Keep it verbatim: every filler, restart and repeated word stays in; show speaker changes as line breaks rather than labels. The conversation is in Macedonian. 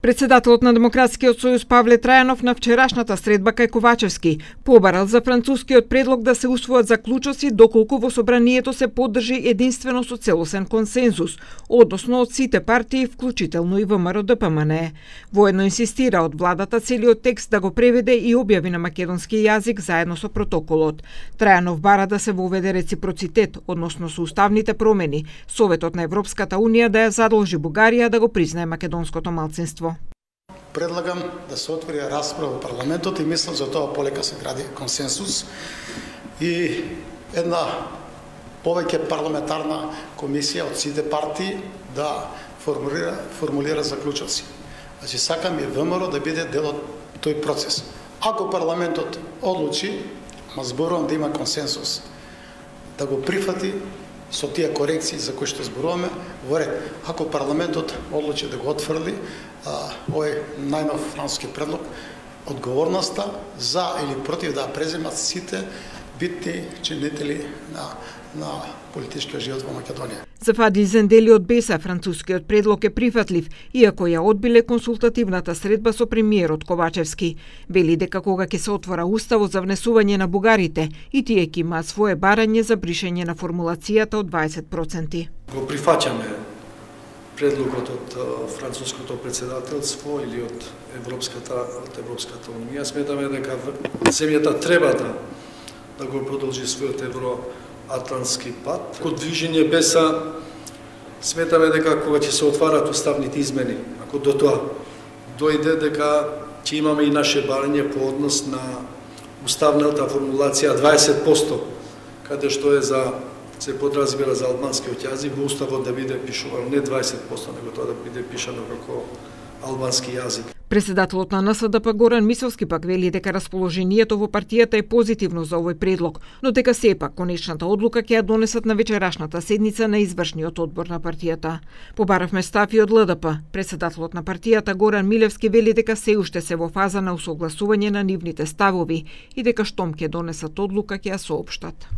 Председателот на Демократскиот сојуз Павле Трајанов на вчерашната средба кај Ковачевски побарал за францускиот предлог да се усвојат заклучоци доколку во собранието се поддржи единствено со целосен консензус, односно од сите партии, вклучително и ВМРО Д П М Н. Воедно инсистира од владата целиот текст да го преведе и објави на македонски јазик заедно со протоколот. Трајанов бара да се воведе реципроцитет, односно со уставните промени, Советот на Европската Унија да ја задолжи Бугарија да го признае македонското малцинство.
Предлагам да се отвори расправа во парламентот и мислам за тоа полека се гради консенсус и една повеќе парламентарна комисија од сите партии да формулира, формулира заклучоци. Значи сакам и ВМРО да биде дел од тој процес. Ако парламентот одлучи, ма зборувам да има консенсус, да го прифати со тие корекции за кои што зборуваме, во ред. Ако парламентот одлучи да го отфрли овој најнов француски предлог, одговорноста за или против да преземат сите битни чинители на на политичкиот живот во Македонија.
За Фадил Зендели од Беса францускиот предлог е прифатлив, иако ја одбиле консултативната средба со премиерот Ковачевски. Вели дека кога ќе се отвора уставот за внесување на бугарите, и тие ќе имаат свое барање за бришење на формулацијата од дваесет проценти.
Го прифаќаме предлогот од француското председателство или од Европската од Европската унија. Сметаме дека земјата треба да да го продолжи својот евроатлантски пат. Код движење Беса сметаме дека кога ќе се отварат уставните измени, ако до тоа дојде, дека ќе имаме и наше барање по однос на уставната формулација дваесет проценти, каде што е за се подразбира за албанскиот јазик, во уставот да биде пишувано не дваесет проценти, него тоа да биде пишано како албански јазик.
Председателот на Н С Д П Горан Мисовски пак вели дека расположението во партијата е позитивно за овој предлог, но дека сепак конечната одлука ќе ја донесат на вечерашната седница на извршниот одбор на партијата. Побаравме став и од Л Д П. Председателот на партијата Горан Милевски вели дека се уште се во фаза на усогласување на нивните ставови и дека штом ќе донесат одлука ќе ја соопштат.